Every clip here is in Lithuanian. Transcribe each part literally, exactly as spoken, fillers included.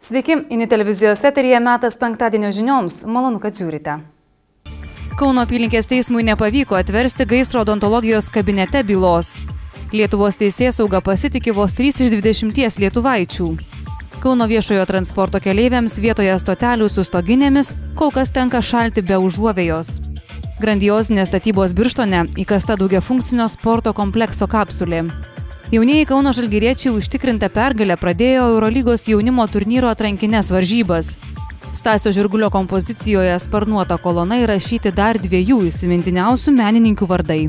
Sveiki, Ini televizijos eteryje metas penktadienio žinioms. Malonu, kad žiūrite. Kauno apylinkės teismui nepavyko atversti gaisro odontologijos kabinete bylos. Lietuvos teisėsauga pasitiki vos trys iš dvidešimties lietuvaičių. Kauno viešojo transporto keleiviams vietoje stotelių su stoginėmis kol kas tenka šalti be užuovėjos. Grandiozinės statybos Birštone įkasta daugiafunkcinio sporto komplekso kapsulė. Jaunieji Kauno žalgiriečiai užtikrintą pergalę pradėjo Eurolygos jaunimo turnyro atrankines varžybas. Stasio Žirgulio kompozicijoje Sparnuota kolona įrašyti dar dviejų įsimintiniausių menininkių vardai.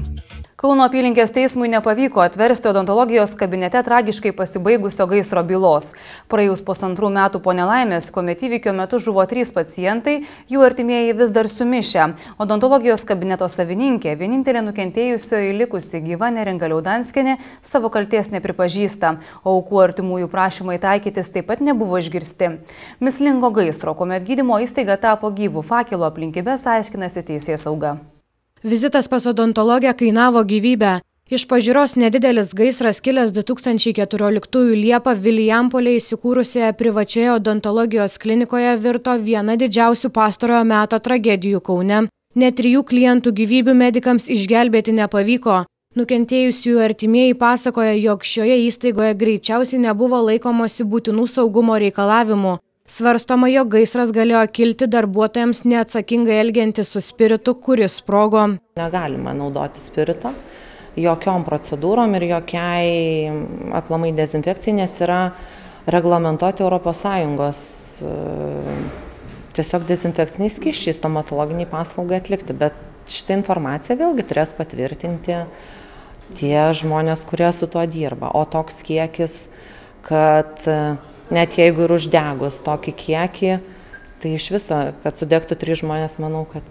Kauno apylinkės teismui nepavyko atversti odontologijos kabinete tragiškai pasibaigusio gaisro bylos. Praėjus pusantrų metų po nelaimės, kuomet įvykio metu žuvo trys pacientai, jų artimieji vis dar sumišę. Odontologijos kabineto savininkė, vienintelė nukentėjusioji likusi gyva Neringa Liaudanskienė, savo kaltės nepripažįsta, o aukų artimųjų prašymai taikytis taip pat nebuvo išgirsti. Mislingo gaisro, kuomet gydymo įstaiga tapo gyvų fakelo aplinkybės, aiškinasi teisėsauga. Vizitas pas odontologę kainavo gyvybę. Iš pažiūros nedidelis gaisras kilęs du tūkstančiai keturioliktųjų Liepą Vilijampolėje įsikūrusioje privačioje odontologijos klinikoje virto viena didžiausių pastarojo meto tragedijų Kaune. Net trijų klientų gyvybių medikams išgelbėti nepavyko. Nukentėjusiųjų artimieji pasakoja, jog šioje įstaigoje greičiausiai nebuvo laikomosi būtinų saugumo reikalavimų. Svarstoma, jog gaisras galėjo kilti darbuotojams neatsakingai elgiantis su spiritu, kuris sprogo. Negalima naudoti spirito jokiom procedūrom ir jokiai aplamai dezinfekcijai, nes yra reglamentuoti Europos Sąjungos tiesiog dezinfekciniai skysčiai stomatologiniai paslaugai atlikti. Bet šitą informaciją vėlgi turės patvirtinti tie žmonės, kurie su tuo dirba. O toks kiekis, kad net jeigu ir uždegus tokį kiekį, tai iš viso, kad sudegtų trys žmonės, manau, kad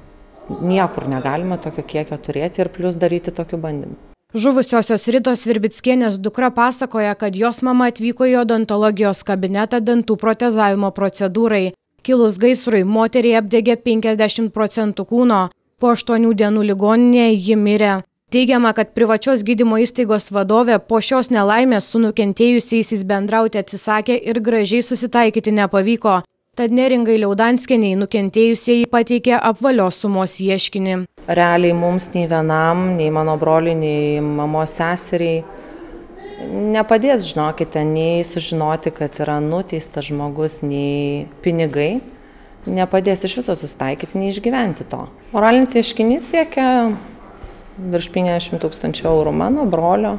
niekur negalima tokio kiekio turėti ir plus daryti tokių bandymų. Žuvusiosios Ritos Virbickienės dukra pasakoja, kad jos mama atvyko į odontologijos kabinetą dantų protezavimo procedūrai. Kilus gaisrui, moteriai apdegė penkiasdešimt procentų kūno. Po aštuonių dienų ligoninėje ji mirė. Teigiama, kad privačios gydymo įstaigos vadovė po šios nelaimės su nukentėjusiaisiais bendrauti atsisakė ir gražiai susitaikyti nepavyko. Tad Neringai Liaudanskienei nukentėjusieji pateikė apvalios sumos ieškinį. Realiai mums nei vienam, nei mano broliui, nei mamos seseriai nepadės, žinokite, nei sužinoti, kad yra nuteistas žmogus, nei pinigai. Nepadės iš viso susitaikyti, nei išgyventi to. Moralinis ieškinys siekia virš penkiasdešimt tūkstančių eurų mano brolio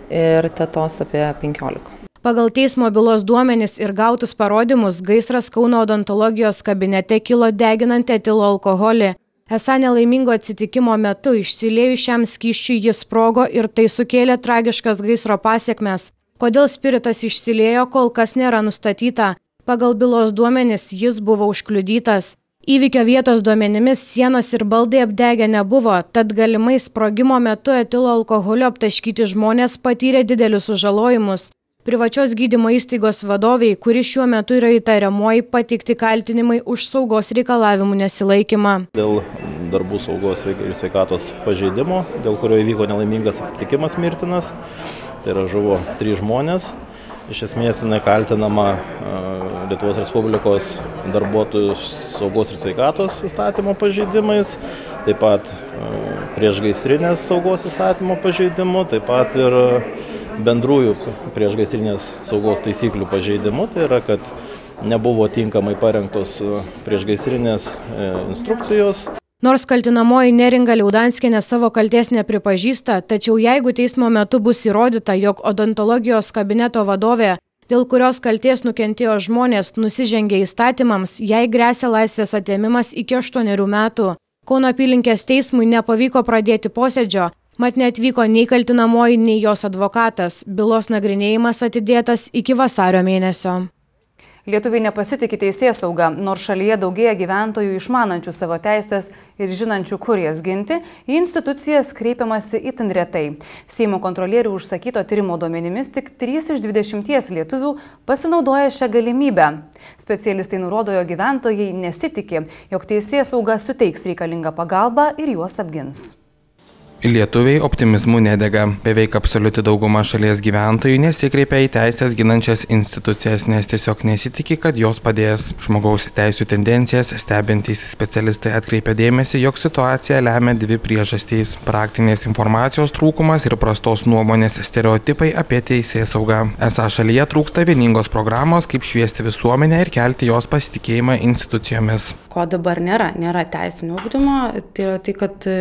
ir tetos apie penkiolika. Pagal teismo bylos duomenis ir gautus parodymus, gaisras Kauno odontologijos kabinete kilo deginant etilo alkoholį. Esą nelaimingo atsitikimo metu išsiliejus šiam skysčiui jis sprogo ir tai sukėlė tragiškas gaisro pasekmes. Kodėl spiritas išsiliejo, kol kas nėra nustatyta. Pagal bylos duomenis jis buvo užkliudytas. Įvykio vietos duomenimis sienos ir baldai apdegę nebuvo, tad galimai sprogimo metu etilo alkoholio aptaškyti žmonės patyrė didelius sužalojimus. Privačios gydymo įstaigos vadoviai, kuri šiuo metu yra įtariamoji, pateikti kaltinimai už saugos reikalavimų nesilaikymą. Dėl darbų saugos ir sveikatos pažeidimo, dėl kurio įvyko nelaimingas atsitikimas mirtinas, tai yra žuvo trys žmonės. Iš esmės jinai kaltinama Lietuvos Respublikos darbuotojų saugos ir sveikatos įstatymo pažeidimais, taip pat priešgaisrinės saugos įstatymo pažeidimu, taip pat ir bendrųjų priešgaisrinės saugos taisyklių pažeidimu, tai yra, kad nebuvo tinkamai parengtos priešgaisrinės instrukcijos. Nors kaltinamoji Neringa Liaudanskienė savo kaltės nepripažįsta, tačiau jeigu teismo metu bus įrodyta, jog odontologijos kabineto vadovė, dėl kurios kaltės nukentėjo žmonės, nusižengė įstatymams, jai gresia laisvės atėmimas iki aštuonerių metų. Kauno apylinkės teismui nepavyko pradėti posėdžio, mat neatvyko nei kaltinamoji, nei jos advokatas. Bylos nagrinėjimas atidėtas iki vasario mėnesio. Lietuviai nepasitikė teisėsauga, nors šalyje daugėja gyventojų išmanančių savo teisės ir žinančių, kur jas ginti, į institucijas kreipiamasi itin retai. Seimo kontrolierių užsakyto tyrimo duomenimis tik trys iš dvidešimties lietuvių pasinaudoja šią galimybę. Specialistai nurodo, jog gyventojai nesitikė, jog teisėsauga suteiks reikalingą pagalbą ir juos apgins. Lietuviai optimizmu nedega. Beveik absoliuti dauguma šalies gyventojų nesikreipia į teisės ginančias institucijas, nes tiesiog nesitikė, kad jos padės. Žmogaus teisų tendencijas stebintys specialistai atkreipia dėmesį, jog situaciją lemia dvi priežastys – praktinės informacijos trūkumas ir prastos nuomonės stereotipai apie teisėsaugą. Esą šalyje trūksta vieningos programos, kaip šviesti visuomenę ir kelti jos pasitikėjimą institucijomis. Ko dabar nėra? Nėra teisinio ugdymo, tai yra tai, kad e,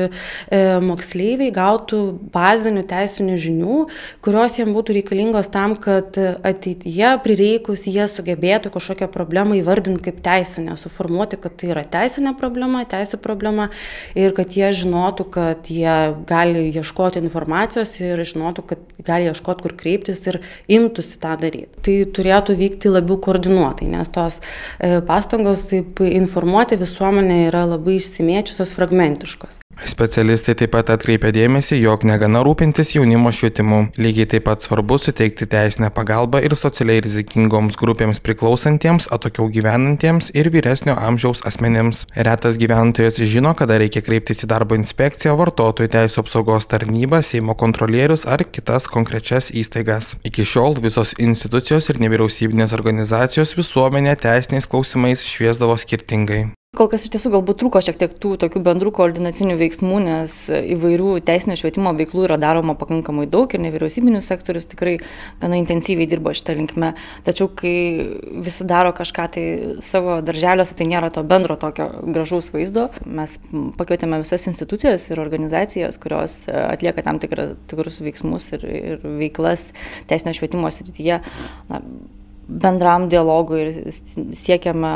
moksleiviai gautų bazinių teisinių žinių, kurios jiems būtų reikalingos tam, kad ateityje prireikus jie sugebėtų kažkokią problemą įvardinti kaip teisinę, suformuoti, kad tai yra teisinė problema, teisų problema ir kad jie žinotų, kad jie gali ieškoti informacijos ir žinotų, kad gali ieškoti, kur kreiptis ir imtųsi tą daryti. Tai turėtų vykti labiau koordinuotai, nes tos e, pastangos informuoti visuomenė yra labai išsimėčiusios, fragmentiškos. Specialistai taip pat atkreipia dėmesį, jog negana rūpintis jaunimo švietimu. Lygiai taip pat svarbu suteikti teisinę pagalbą ir socialiai rizikingoms grupėms priklausantiems, atokiau gyvenantiems ir vyresnio amžiaus asmenims. Retas gyventojas žino, kada reikia kreiptis į darbo inspekciją, vartotojų teisų apsaugos tarnybą, Seimo kontrolierius ar kitas konkrečias įstaigas. Iki šiol visos institucijos ir nevyriausybinės organizacijos visuomenę teisiniais klausimais šviesdavo skirtingai. Kol kas iš tiesų galbūt trūko šiek tiek tų tokių bendrų koordinacinių veiksmų, nes įvairių teisinio švietimo veiklų yra daroma pakankamai daug ir nevyriausybinis sektorius tikrai gana intensyviai dirbo šitą linkme. Tačiau, kai visi daro kažką tai savo darželiuose, tai nėra to bendro tokio gražaus vaizdo. Mes pakvietėme visas institucijas ir organizacijas, kurios atlieka tam tikra, tikrus veiksmus ir, ir veiklas teisinio švietimo srityje, na, bendram dialogui ir siekiame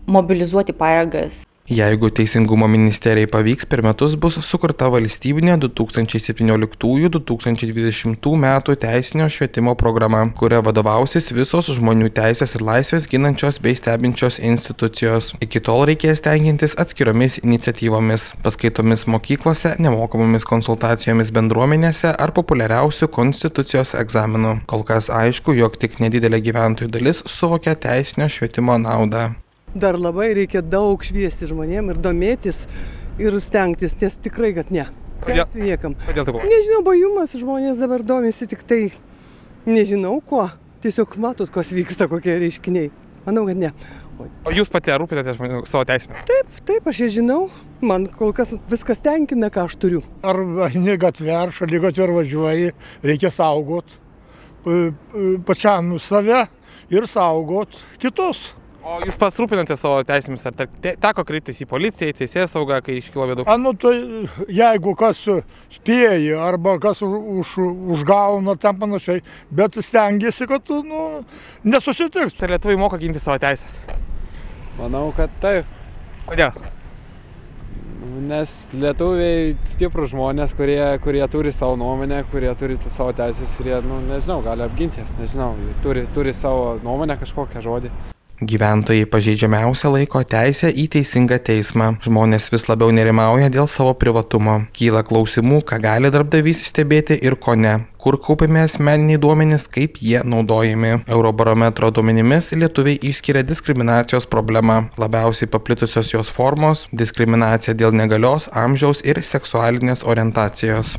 mobilizuoti pajėgas. Jeigu Teisingumo ministerijai pavyks, per metus bus sukurta valstybinė du tūkstančiai septynioliktųjų - du tūkstančiai dvidešimtų metų teisinio švietimo programa, kuria vadovausis visos žmonių teisės ir laisvės ginančios bei stebinčios institucijos. Iki tol reikės tenkintis atskiromis iniciatyvomis, paskaitomis mokyklose, nemokamomis konsultacijomis bendruomenėse ar populiariausių konstitucijos egzaminų. Kol kas aišku, jog tik nedidelė gyventojų dalis suvokia teisinio švietimo naudą. Dar labai reikia daug šviesti žmonėm ir domėtis ir stengtis, nes tikrai, kad ne. Teisų niekam. Nežinau, bajumas, žmonės dabar domisi tik tai, nežinau kuo. Tiesiog matot, kas vyksta, kokie reiškiniai. Manau, kad ne. O, o jūs pati rūpinatės savo teisėmis? Taip, taip, aš ją žinau. Man kol kas viskas tenkina, ką aš turiu. Ar ne gatvė, ar šaligatvė ar važiuoji, reikia saugot pačiam save ir saugot kitus. O jūs pasirūpinate savo teisėmis, ar te, teko kreiptis į policiją, į teisėsaugą, kai iškilo bėdų? A, nu, tai jeigu kas spėja arba kas už, užgauna ten panašiai, bet stengiasi, kad nu, nesusitiks. Tai lietuviai moka ginti savo teisės? Manau, kad taip. Kodėl? Nes lietuviai stiprų žmonės, kurie, kurie turi savo nuomonę, kurie turi savo teisės ir jie, nu, nežinau, gali apginti jas, nežinau, turi, turi savo nuomonę kažkokią žodį. Gyventojai pažeidžiamiausia laiko teisę į teisingą teismą. Žmonės vis labiau nerimauja dėl savo privatumo. Kyla klausimų, ką gali darbdavys stebėti ir ko ne. Kur kaupiami asmeniniai duomenys, kaip jie naudojami. Eurobarometro duomenimis lietuviai išskiria diskriminacijos problemą. Labiausiai paplitusios jos formos – diskriminacija dėl negalios, amžiaus ir seksualinės orientacijos.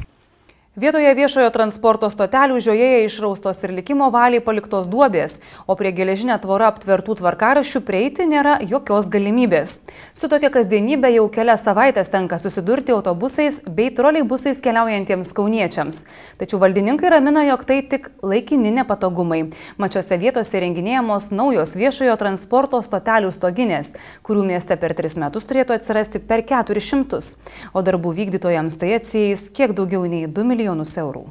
Vietoje viešojo transporto stotelių žiojėje išraustos ir likimo valiai paliktos duobės, o prie geležinė tvora aptvertų tvarkaraščių prieiti nėra jokios galimybės. Su tokia kasdienybė jau kelias savaitės tenka susidurti autobusais bei troleibusais keliaujantiems kauniečiams. Tačiau valdininkai ramina, jog tai tik laikini nepatogumai. Mačiose vietose renginėjamos naujos viešojo transporto stotelių stoginės, kurių mieste per tris metus turėtų atsirasti per keturis šimtus. O darbų vykdytojams tai atsieis kiek daugiau nei du milijonus eurų.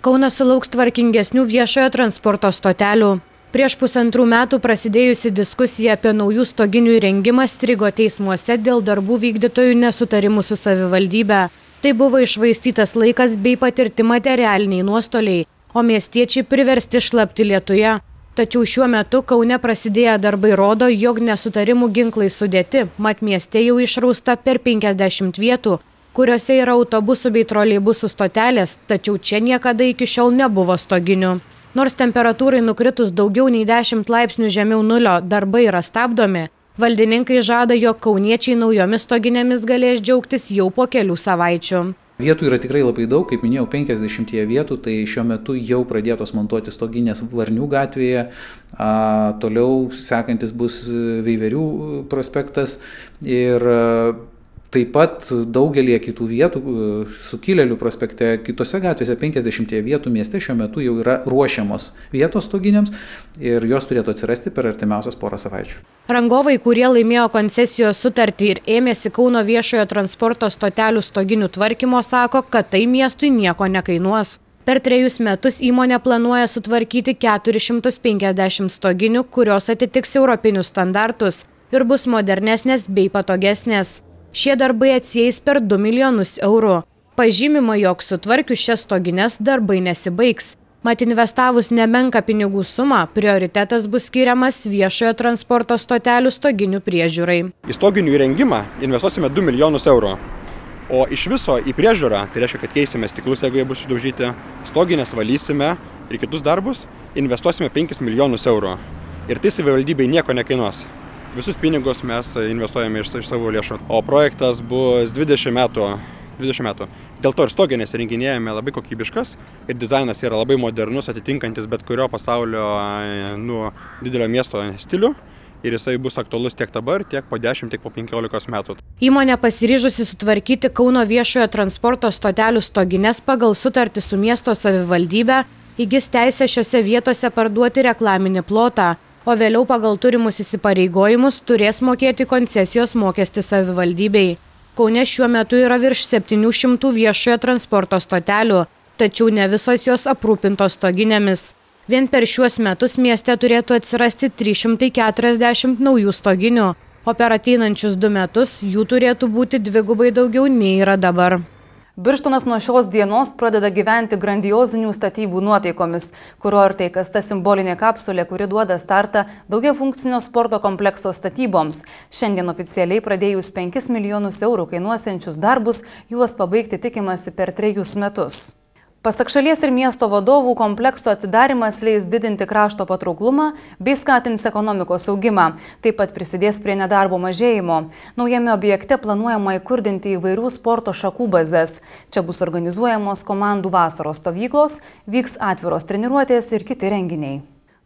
Kaunas sulauks tvarkingesnių viešojo transporto stotelių. Prieš pusantrų metų prasidėjusi diskusija apie naujų stoginių įrengimą strigo teismuose dėl darbų vykdytojų nesutarimų su savivaldybe. Tai buvo iššvaistytas laikas bei patirti materialiniai nuostoliai, o miestiečiai priversti šlapti lietuje. Tačiau šiuo metu Kaune prasidėję darbai rodo, jog nesutarimų ginklai sudėti, mat mieste jau išrausta per penkiasdešimt vietų, kuriuose yra autobusų bei troleibusų stotelės, tačiau čia niekada iki šiol nebuvo stoginių. Nors temperatūrai nukritus daugiau nei dešimt laipsnių žemiau nulio darbai yra stabdomi, Valdininkai žada, jog kauniečiai naujomis stoginėmis galės džiaugtis jau po kelių savaičių. Vietų yra tikrai labai daug, kaip minėjau, penkiasdešimt vietų, tai šiuo metu jau pradėtos montuoti stoginės Varnių gatvėje, a, toliau sekantis bus Veiverių prospektas ir a, taip pat daugelį kitų vietų, Sukilėlių prospekte, kitose gatvėse penkiasdešimt vietų mieste šiuo metu jau yra ruošiamos vietos stoginėms ir jos turėtų atsirasti per artimiausias porą savaičių. Rangovai, kurie laimėjo koncesijos sutartį ir ėmėsi Kauno viešojo transporto stotelių stoginių tvarkymo, sako, kad tai miestui nieko nekainuos. Per trejus metus įmonė planuoja sutvarkyti keturis šimtus penkiasdešimt stoginių, kurios atitiks europinius standartus ir bus modernesnės bei patogesnės. Šie darbai atsieis per du milijonus eurų. Pažymima, jog sutvarkius šias stogines darbai nesibaigs. Mat investavus nemenką pinigų sumą, prioritetas bus skiriamas viešojo transporto stotelių stoginių priežiūrai. Į stoginių įrengimą investuosime du milijonus eurų. O iš viso į priežiūrą, tai reiškia, kad keisime stiklus, jeigu jie bus išdaužyti, stoginės valysime ir kitus darbus, investuosime penkis milijonus eurų. Ir tai savivaldybei nieko nekainuos. Visus pinigus mes investuojame iš, iš savo lėšų. O projektas bus dvidešimt metų. dvidešimt metų. Dėl to ir stoginės renginėjame labai kokybiškas ir dizainas yra labai modernus, atitinkantis bet kurio pasaulio nu, didelio miesto stilių. Ir jisai bus aktualus tiek dabar, tiek po dešimt, tiek po penkiolikos metų. Įmonė pasiryžusi sutvarkyti Kauno viešojo transporto stotelių stogines pagal sutartį su miesto savivaldybe, įgis teisę šiose vietose parduoti reklaminį plotą, o vėliau pagal turimus įsipareigojimus turės mokėti koncesijos mokestį savivaldybei. Kaune šiuo metu yra virš septynių šimtų viešojo transporto stotelių, tačiau ne visos jos aprūpintos stoginėmis. Vien per šiuos metus mieste turėtų atsirasti trys šimtai keturiasdešimt naujų stoginių, o per ateinančius du metus jų turėtų būti dvigubai daugiau nei yra dabar. Birštonas nuo šios dienos pradeda gyventi grandiozinių statybų nuotaikomis. Kurortai kasta simbolinė kapsulė, kuri duoda startą daugiafunkcinio sporto komplekso statyboms. Šiandien oficialiai pradėjus penkis milijonus eurų kainuosiančius darbus, juos pabaigti tikimasi per trejus metus. Pasak šalies ir miesto vadovų, komplekso atidarimas leis didinti krašto patrauklumą bei skatins ekonomikos augimą. Taip pat prisidės prie nedarbo mažėjimo. Naujame objekte planuojama įkurdinti įvairių sporto šakų bazės. Čia bus organizuojamos komandų vasaros stovyklos, vyks atviros treniruotės ir kiti renginiai.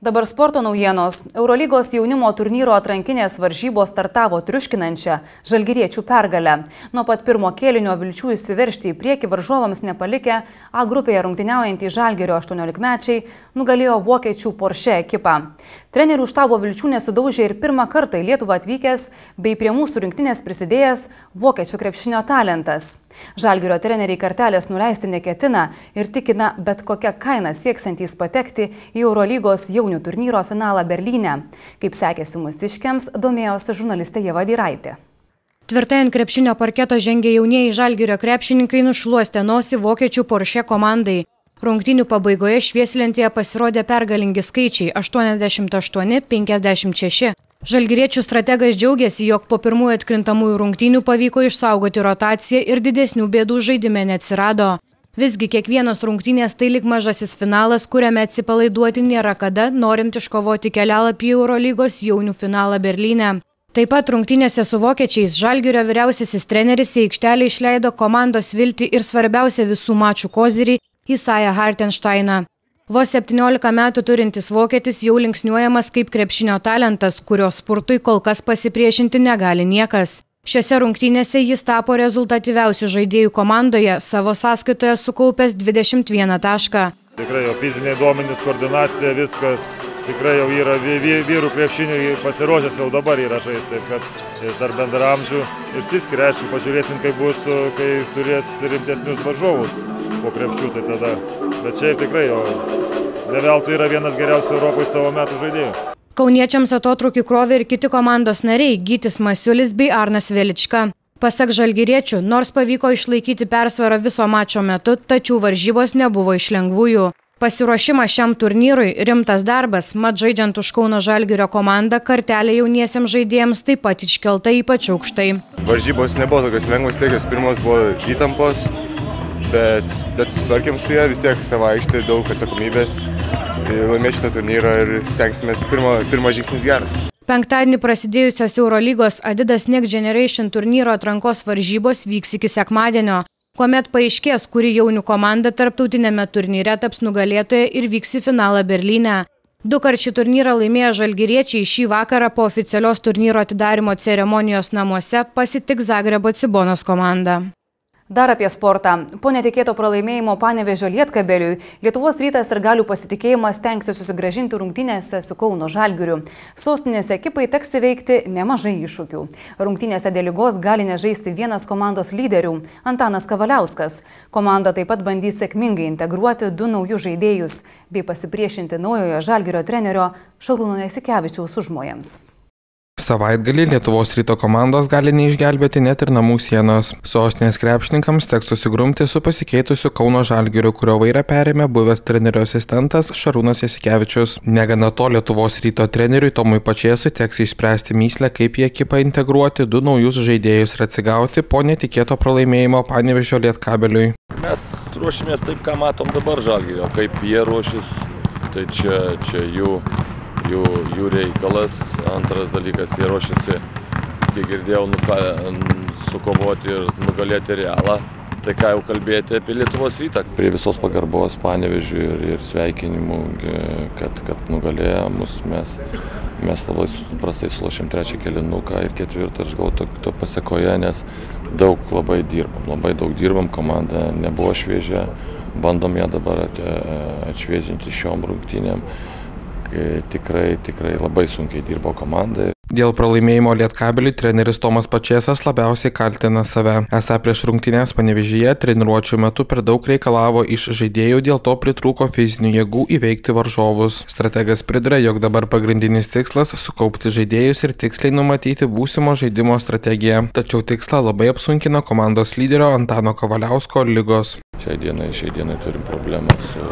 Dabar sporto naujienos. Eurolygos jaunimo turnyro atrankinės varžybos startavo triuškinančią žalgiriečių pergalę. Nuo pat pirmo kėlinio vilčių įsiveržti į priekį varžovams nepalikę, A grupėje rungtyniaujantys Žalgirio aštuoniolikmečiai nugalėjo vokiečių Porsche ekipą. Trenerių štabo vilčių nesudaužė ir pirmą kartą į Lietuvą atvykęs bei prie mūsų rinktinės prisidėjęs vokiečių krepšinio talentas. Žalgirio treneriai kartelės nuleisti neketina ir tikina bet kokią kainą sieksiantys patekti į Eurolygos jaunių turnyro finalą Berlyne. Kaip sekėsi mūsiškiams, domėjosi žurnalistė Ieva Dyraitė. Tvirtai ant krepšinio parketo žengė jaunieji Žalgirio krepšininkai nušluostė nosį vokiečių Porsche komandai. Rungtynių pabaigoje švieslentėje pasirodė pergalingi skaičiai – aštuoniasdešimt aštuoni penkiasdešimt šeši. Žalgiriečių strategas džiaugiasi, jog po pirmųjų atkrintamųjų rungtynių pavyko išsaugoti rotaciją ir didesnių bėdų žaidime neatsirado. Visgi kiekvienas rungtynės tai lyg mažasis finalas, kuriame atsipalaiduoti nėra kada, norint iškovoti kelialapį į Eurolygos jaunių finalą Berlyne. Taip pat rungtynėse su vokiečiais Žalgirio vyriausiasis treneris į aikštelę išleido komandos viltį ir svarbiausia visų mačų kozirį Isają Hartensteiną. Vos septyniolika metų turintis vokietis jau linksniuojamas kaip krepšinio talentas, kurio spurtui kol kas pasipriešinti negali niekas. Šiose rungtynėse jis tapo rezultatyviausių žaidėjų komandoje, savo sąskaitoje sukaupęs dvidešimt vieną tašką. Tikrai jo fiziniai duomenys, koordinacija, viskas. Tikrai jau yra vyrų krepšinių pasiruošęs jau dabar yra žaisti, taip kad jis dar bendraamžių ir siskiria, aišku, pažiūrėsim, kaip bus, kai turės rimtesnius varžovus po krepšių, tai tada. Bet šiaip tikrai jau ne veltui yra vienas geriausių Europoje savo metų žaidėjų. Kauniečiams atotrūkį krovė ir kiti komandos nariai Gytis Masiulis bei Arnas Velička. Pasak žalgiriečių, nors pavyko išlaikyti persvarą viso mačo metu, tačiau varžybos nebuvo iš lengvųjų. Pasiruošimas šiam turnyrui rimtas darbas, mat žaidžiant už Kauno Žalgirio komandą, kartelė jauniesiems žaidėjams taip pat iškelta ypač aukštai. Varžybos nebuvo tokios lengvos, tiek pirmos buvo įtampos, bet, bet susitvarkėm su ją, vis tiek savo aikštė, daug atsakomybės, laimėti šitą turnyrą ir stengsime pirmo, pirmas žingsnis geras. Penktadienį prasidėjusios Eurolygos Adidas Next Generation turnyro atrankos varžybos vyks iki sekmadienio, kuomet paaiškės, kuri jaunių komanda tarptautinėme turnyre taps nugalėtoja ir vyks į finalą Berlyne. Dukart šį turnyrą laimėję žalgiriečiai šį vakarą po oficialios turnyro atidarymo ceremonijos namuose pasitiks Zagrebo Cibonos komandą. Dar apie sportą. Po netikėto pralaimėjimo Panevėžio Lietkabeliui, Lietuvos Rytas ir galių pasitikėjimas stengsis susigrąžinti rungtynėse su Kauno Žalgiriu. Sostinės ekipai teks įveikti nemažai iššūkių. Rungtynėse dėl ligos gali nežaisti vienas komandos lyderių – Antanas Kavaliauskas. Komanda taip pat bandys sėkmingai integruoti du naujus žaidėjus bei pasipriešinti naujojo Žalgirio trenerio Šarūno Jasikevičiaus užmojams. Savaitgalį Lietuvos Ryto komandos gali neišgelbėti net ir namų sienos. Sostinės krepšininkams teks susigrumti su pasikeitusiu Kauno Žalgiriu, kurio vairą perėmė buvęs trenerio asistentas Šarūnas Jasikevičius. Negana to, Lietuvos Ryto treneriui Tomui Pačėsui teks išspręsti myslę, kaip į ekipą integruoti du naujus žaidėjus ir atsigauti po netikėto pralaimėjimo Panevėžio Lietkabeliui. Mes ruošimės taip, ką matom dabar Žalgirio, kaip jie ruošis, tai čia, čia jų. Jų, jų reikalas. Antras dalykas, jie ruošiasi, kiek girdėjau, nuka, sukovoti ir nugalėti Realą. Tai ką jau kalbėti apie Lietuvos Rytą. Prie visos pagarbos Panevėžiui ir, ir sveikinimų, kad, kad nugalėjo mus, mes, mes labai prastai sulošėm trečią kėlinuką ir ketvirtą, aš gavau to, to pasekoje, nes daug labai dirbam, labai daug dirbam, komanda nebuvo šviežia, bandom ją dabar atšviežinti šiom rungtynėm. Tikrai, tikrai labai sunkiai dirbo komanda. Dėl pralaimėjimo Lietkabeliui treneris Tomas Pačėsas labiausiai kaltina save. Esą prieš rungtynes Panevėžyje treniruočių metu per daug reikalavo iš žaidėjų, dėl to pritrūko fizinių jėgų įveikti varžovus. Strategas priduria, jog dabar pagrindinis tikslas – sukaupti žaidėjus ir tiksliai numatyti būsimo žaidimo strategiją. Tačiau tikslą labai apsunkina komandos lyderio Antano Kavaliausko ligos. Šiai dienai, šiai dienai turim problemą su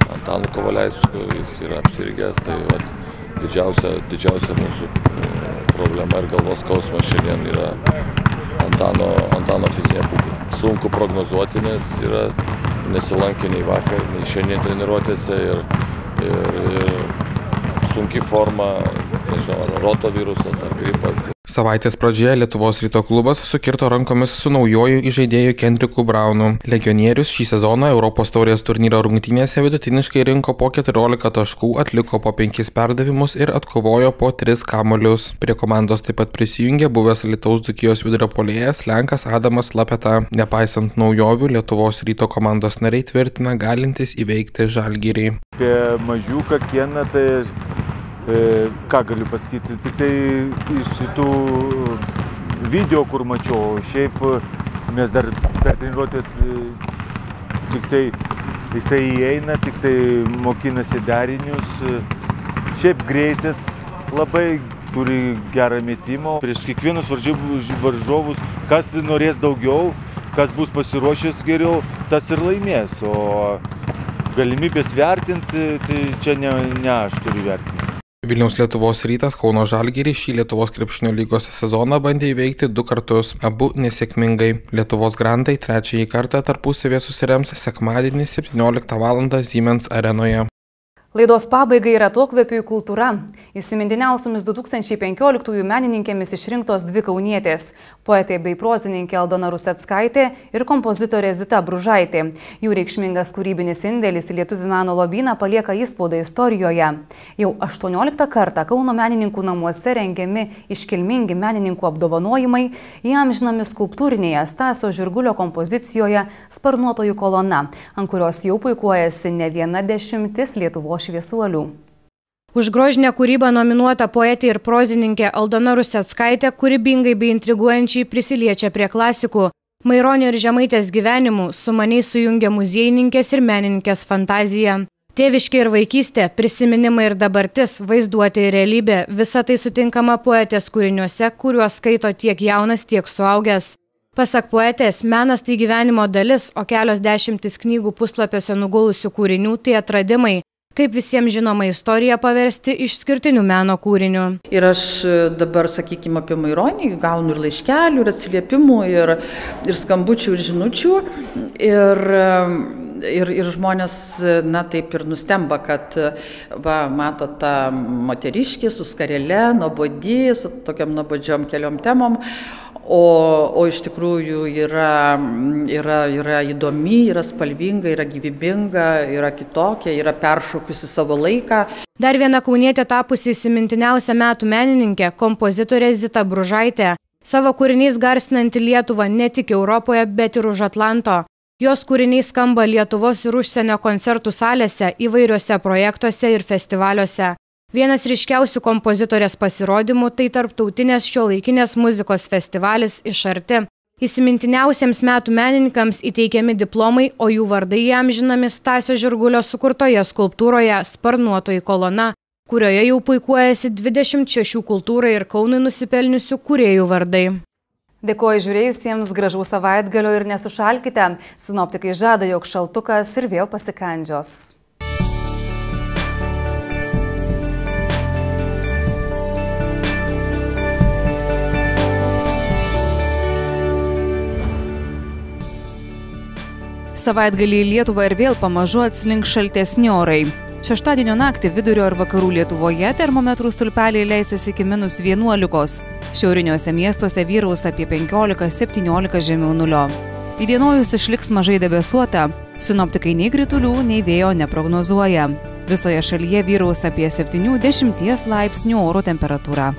Antanu Kavaliausku, jis yra apsirgęs, tai vat, didžiausia, didžiausia mūsų problema ir galvos skausmas šiandien yra Antano, Antano fizinė būklė. Sunku prognozuoti, nes yra nesilankė nei vakar, nei šiandien treniruotėse ir, ir, ir sunki forma, nežinau, rotavirusas ar gripas. Savaitės pradžioje Lietuvos Ryto klubas sukirto rankomis su naujoju įžaidėju Kendriku Braunu. Legionierius šį sezoną Europos taurės turnyro rungtynėse vidutiniškai rinko po keturiolika taškų, atliko po penkis perdavimus ir atkovojo po tris kamuolius. Prie komandos taip pat prisijungė buvęs Alytaus Dzūkijos vidurio puolėjas Lenkas Adamas Lapeta. Nepaisant naujovių, Lietuvos Ryto komandos nariai tvirtina galintys įveikti Žalgirį. Apie mažiuką Keną, tai E, ką galiu pasakyti, tik tai iš šitų video, kur mačiau, šiaip mes dar per treniruotės tik tai jisai įeina, tik tai mokinasi derinius, šiaip greitas, labai turi gerą metimą. Prieš kiekvienus varžovus, kas norės daugiau, kas bus pasiruošęs geriau, tas ir laimės, o galimybės vertinti, tai čia ne, ne aš turiu vertinti. Vilniaus Lietuvos Rytas Kauno Žalgirį šį Lietuvos krepšinio lygos sezoną bandė įveikti du kartus, abu nesėkmingai. Lietuvos grandai trečiąjį kartą tarpusavėje susirems sekmadienį septynioliktą valandą Siemens arenoje. Laidos pabaigai yra atokvėpių kultūra. Įsimintiniausiomis du tūkstančiai penkioliktųjų menininkėmis išrinktos dvi kaunietės – poetė bei prozininkė Aldona Ruseckaitė ir kompozitorė Zita Bružaitė. Jų reikšmingas kūrybinis indėlis į lietuvių meno lobyną palieka įspaudą istorijoje. Jau aštuonioliktą kartą Kauno menininkų namuose rengiami iškilmingi menininkų apdovanojimai, įamžinami skulptūrinėje Stasio Žirgulio kompozicijoje Sparnuotojų kolona, ant kurios jau puikuojasi ne viena dešimtis Lietuvos šviesuolių. Už grožinę kūrybą nominuota poetė ir prozininkė Aldona Ruseckaitė kūrybingai bei intriguojančiai prisiliečia prie klasikų. Maironio ir Žemaitės gyvenimų sumaniai sujungia muziejininkės ir menininkės fantaziją. Tėviškė ir vaikystė, prisiminimai ir dabartis, vaizduotė ir realybė – visa tai sutinkama poetės kūriniuose, kuriuos skaito tiek jaunas, tiek suaugęs. Pasak poetės, menas tai gyvenimo dalis, o kelios dešimtis knygų puslapiuose nugulusių kūrinių tai atradimai. Kaip visiems žinoma istoriją paversti išskirtiniu meno kūriniu. Ir aš dabar, sakykime, apie Maironį gaunu ir laiškelių, ir atsiliepimų, ir, ir skambučių, ir žinučių. Ir ir, ir žmonės, na, taip ir nustemba, kad, va, mato tą moteriškį su skarele, nuobodį, su tokiam nuobodžiom keliom temom, o, o iš tikrųjų yra, yra, yra įdomi, yra spalvinga, yra gyvybinga, yra kitokia, yra peršokusi savo laiką. Dar viena kaunietė tapusi įsimintiniausia metų menininkė, kompozitorė Zita Bružaitė, savo kūriniais garsinanti Lietuvą ne tik Europoje, bet ir už Atlanto. Jos kūriniai skamba Lietuvos ir užsienio koncertų salėse, įvairiuose projektuose ir festivaliuose. Vienas ryškiausių kompozitorės pasirodymų tai tarptautinės šiuolaikinės muzikos festivalis Iš arti. Įsimintiniausiems metų menininkams įteikiami diplomai, o jų vardai įamžinami Stasio Žirgulio sukurtoje skulptūroje Sparnuotoji kolona, kurioje jau puikuojasi dvidešimt šešių kultūrai ir Kaunui nusipelniusių kūrėjų vardai. Dėkoju žiūrėjusiems, gražaus savaitgalio ir nesušalkite. Sinoptikai žada, jog šaltukas ir vėl pasikandžios. Savaitgalį į Lietuvą ir vėl pamažu atslinks šaltesni orai. Šeštadienio naktį vidurio ir vakarų Lietuvoje termometrų stulpeliai leisis iki minus vienuolikos. Šiauriniuose miestuose vyraus apie penkiolika septyniolika žemiau nulio. Įdienojus išliks mažai debesuota. Sinoptikai nei kritulių, nei vėjo neprognozuoja. Visoje šalyje vyraus apie septynių dešimties laipsnių oro temperatūra.